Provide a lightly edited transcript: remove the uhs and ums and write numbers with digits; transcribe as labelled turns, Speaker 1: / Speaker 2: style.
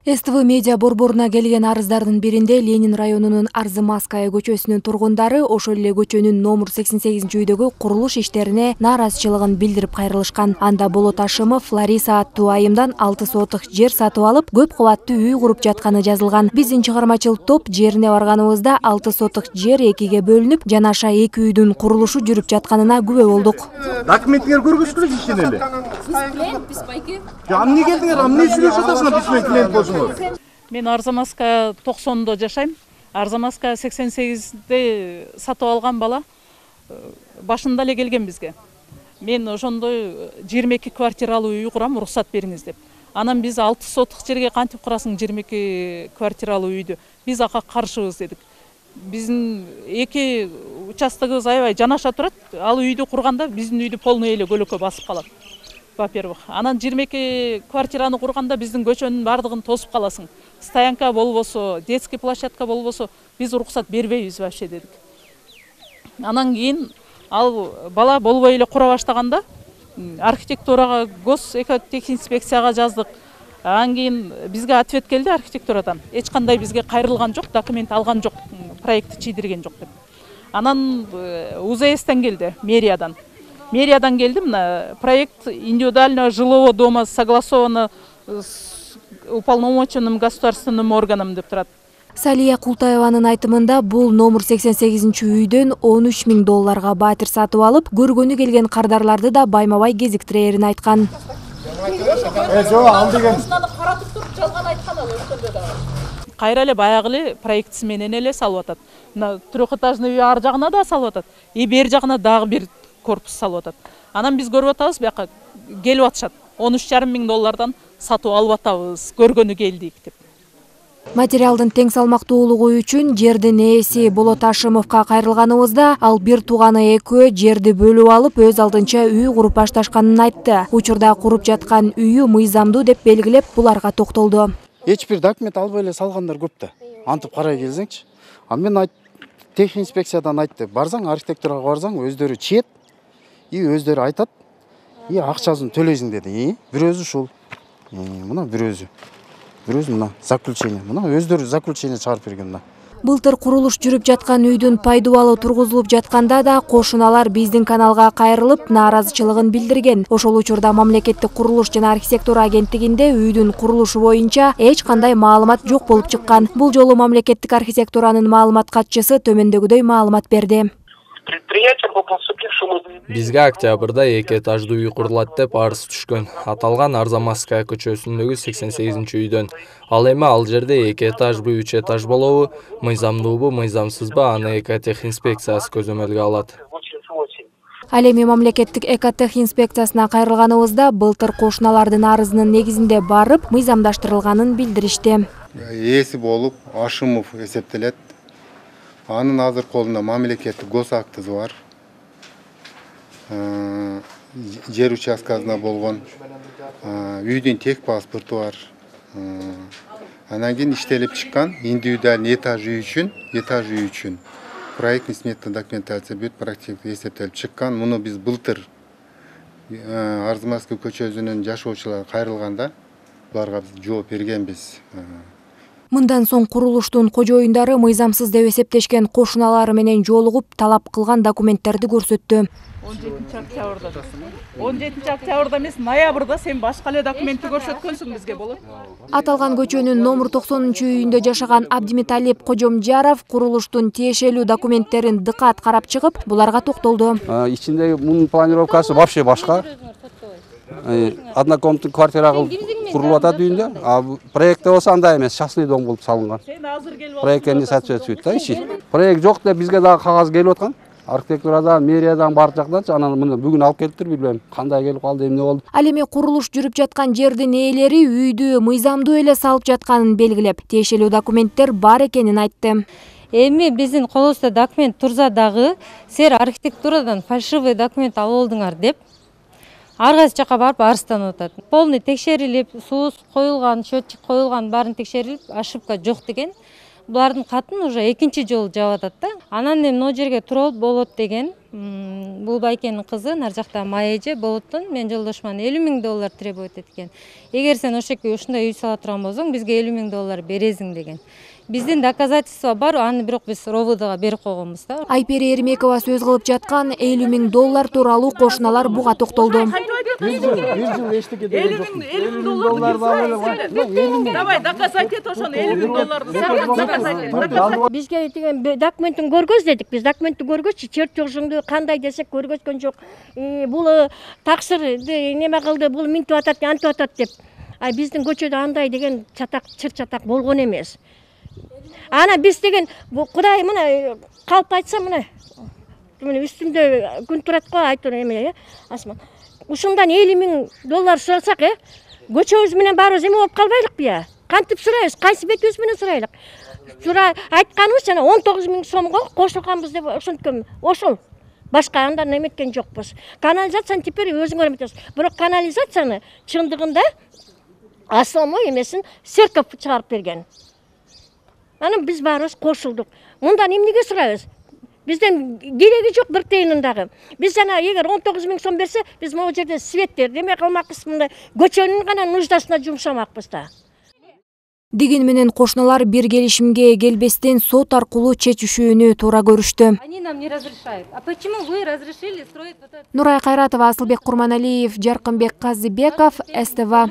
Speaker 1: СТВ медиа борборуна келген арыздардын биринде Ленин районунун Арзымасская көчөсүнүн тургундары ошол эле көчөнүн номер 88-үйдөгү курулуш иштерине нааразычылыгын билдирип кайрылышкан. Анда Болот Ашымов Лариса аттуу айымдан 6 сотук жер сатып алып, көп кабаттуу үй куруп жатканы жазылган. Биздин чыгармачыл топ жерине барганыбызда 6 сотук жер экиге бөлүнүп, жанаша эки үйдүн курулушу жүрүп жатканына күбө болдук.
Speaker 2: Документтер көргүзгүлө ишин эле.
Speaker 3: Биз байки.
Speaker 2: Эмне келдиңер? Эмне сүйлөшүп атасыңар биз менен клиент болсоңор?
Speaker 4: Мен Арзамасская 90-до жашайм. Арзамасская 88-де сатып алган бала башында эле келген бизге. Мен ошондой 22 квартиралуу үй курам, уруксат бериңиз деп. Анан биз 6 сотук жерге кантип курасың 22 квартиралуу үйдү? Биз ага каршыбыз дедик. Биздин эки участогыбыз аябай жанаша турат. Ал үйдү курганда биздин үйдү полный эле көлөкө басып калат. Во-первых, анан 22 квартираны курганда биздин көчөнүн бардыгын тосуп каласың. Стоянка болбосо, детский площадка болбосо, биз уруксат бербейбиз вообще дедик. Анан кийин ал бала болбой эле кура баштаганда архитектурага, госэкотехинспекцияга жаздык. Анан кийин бизге ответ келди архитектурадан. Эч кандай бизге кайрылган жок, документ алган жок, проектти чийдирген жок деп. Анан УЗСтен келди, Мериядан келди, мына проект индивидуального жилого дома согласовано с уполномоченным государственным органом деп турат.
Speaker 1: Салия Култаеванын айтымында бул номер 88-үйдөн $13,000 батир сатып алып, көргөнү келген кардарларды да байма-бай кезиктирерин айткан.
Speaker 2: Жок, ал деген
Speaker 4: Каратып туруп жалган айткан ал ошондо да. Кайра эле баягы эле проектси менен эле салып атат. Мына трехэтажный үй ар жагына да салып атат. И бер жагына дагы бир корпус салып атат. Анан биз көрүп атабыз, бияка келип атышат. $13,500 сатып алып атабыз, көргөнү келдик деп.
Speaker 1: Материалдын тең салмактуулугу үчүн жердин ээси Болот Ашымовго кайрылганыбызда, ал бир тууганы экөө жерди бөлүп алып, өз алдынча үй куруп башташканын айтты. Учурда куруп жаткан үйү мыйзамдуу деп белгилеп, буларга токтолду.
Speaker 5: Эч бир документ албай эле салгандар көп да. Антип карай келсеңчи. Мен техинспекциядан айтты, барсаң архитектурага барсаң, өздөрү чет и өздөрү айтат, и акчасын төлөйсүң деди. Бирөөсү ушул. Мына бирөөсү мына заключение. Мына өздөрү заключение чыгарып берген да.
Speaker 1: Былтыр курулуш жүрүп жаткан үйдүн пайдубалы тургузулуп жатканда да кошуналар биздин каналга кайрылып, нааразычылыгын билдирген. Ошол учурда мамлекеттик курулуш жана архитектура агенттигинде үйдүн курулушу боюнча эч кандай маалымат жок болуп чыккан. Бул жолу мамлекеттик архитектуранын маалымат катчысы төмөндөгүдөй маалымат берди.
Speaker 6: Бизге октябрда 2 этаждуу үй курулат деп арыз түшкөн. Аталган Арзамасская көчөсүндөгү 88-үйдөн. Ал эми ал жерде 2 этажбы, 3 этаж болобу, мыйзамдуубу, мыйзамсызбы, аны экотехинспекциясы көзөмөлгө алат.
Speaker 1: Ал эми мамлекеттик экотехинспекциясына кайрылганыбызда былтыр кошуналардын арызынын негизинде барып, мыйзамдаштырылганын билдиришти.
Speaker 7: Ээси болуп Ашымов эсептелет. Анын азыр колунда мамлекеттик гос актысы бар. Жер участкасында болгон, үйдүн тек паспорту бар. Анан кийин иштелип чыккан индивидуальный этаж үй үчүн проектный сметный документация бүт практика эсептелип чыккан. Муну биз былтыр Арзымасская көчөсүнүн жашоочулары кайрылганда буларга биз жооп бергенбиз.
Speaker 1: Мындан соң курулуштун кожоюндары мыйзамсыз деп эсептешкен кошуналары менен жолугуп, талап кылган документтерди көрсөттү.
Speaker 4: 17 октябрда эмес, ноябрда сен башка эле документти көрсөткөнсүң бизге болот.
Speaker 1: Аталган көчөнүн номер 90-үйүндө жашаган Абдимиталип Кожомжаров курулуштун тиешелүү документтерин дыкат карап чыгып, буларга токтолду.
Speaker 8: Ичинде мунун планировкасы вообще башка. Однокомнатный квартира курулуп атат үйүндө, а проектте болсо андай эмес, частный дом болуп салынган. Проектке не соответствует да иши. Проект жок деп бизге дагы кагаз келип аткан. Архитектурадан, мэриядан баардык жактанчы, анан мына бүгүн алып келиптир, билбейм, кандай келип калды, эмне болду.
Speaker 1: Ал эми курулуш жүрүп жаткан жердин ээлери үйдү мыйзамдуу эле салып жатканын белгилеп, тиешелүү документтер бар экенин айтты.
Speaker 3: Эми биздин колубузда документ турса дагы, силер архитектурадан фальшивый документ алып алдыңар деп ар кайсы жака барып арызданып атат. Полный текшерилип, суу коюлган, счетчик коюлган, баарын текшерилип, ошибка жок деген. булардын катын уже экинчи жолу жаап атат да. Анан эми могу жерге туруп болот деген. Бул байкенин кызы нар жакта Майя эже болоттон мен жолдошуман $50.000 требовать эткен. Эгер сен ошоке ушундай үй сала турган болсоң, бизге $50.000 бересиң деген. Биздин доказательство бар, аны бирок биз РОВДга берип койгонбуз да.
Speaker 1: Айпери Эрмекова сөз кылып жаткан $50.000 тууралуу кошуналар буга токтолду.
Speaker 2: Bir yıl eşlik ediyor.
Speaker 4: $50.000 Давай, доказать et ошону $50.000.
Speaker 9: Бизге деген документин көргөз дедик. Биз документти көргөччү, чертежиңди кандай десек көргөзгөн жок. Бул таксыр неме кылды, бул минтип атат, антип атат деп. Биздин көчөдө андай деген чатак, чыр чатак болгон эмес. Ана биз деген Кудай мына калп айтса мына үстүмдө күн турат го айтыр эме, Асман. Ушундан $50.000 сурасак, көчөбүз менен баарыбыз эме болуп калбайлыкпы я? Кантип сурайбыз? Кайсы бетибиз менен сурайлык? Айтканыбыз жана 19.000 сомго кошулганбыз деп ошонткөн. Ошол. Башка андан эметкен жокпуз. Канализацияны теперь өзүңөр эметесиз. Бирок канализацияны чындыгында основной эмесин церковь чыгарып берген. Анан биз баарыбыз кошулдук. Мындан эмнеге сурайбыз? Бизден кереги жок бир тыйынын дагы. Биз жана эгер 19.000 сом берсе, биз могу жерде светтер деме кылмакпыз, мындай көчөнүн гана нуждасына жумшамакпыз да.
Speaker 1: Деген менен кошуналар бир келишимге келбестен сот аркылуу чечишүүнү туура көрүштү.
Speaker 3: Они нам не разрешают. А почему вы разрешили строить вот это?
Speaker 1: Нурай Кайратова, Асылбек Курманалиев, Жаркынбек Казыбеков, СТВ.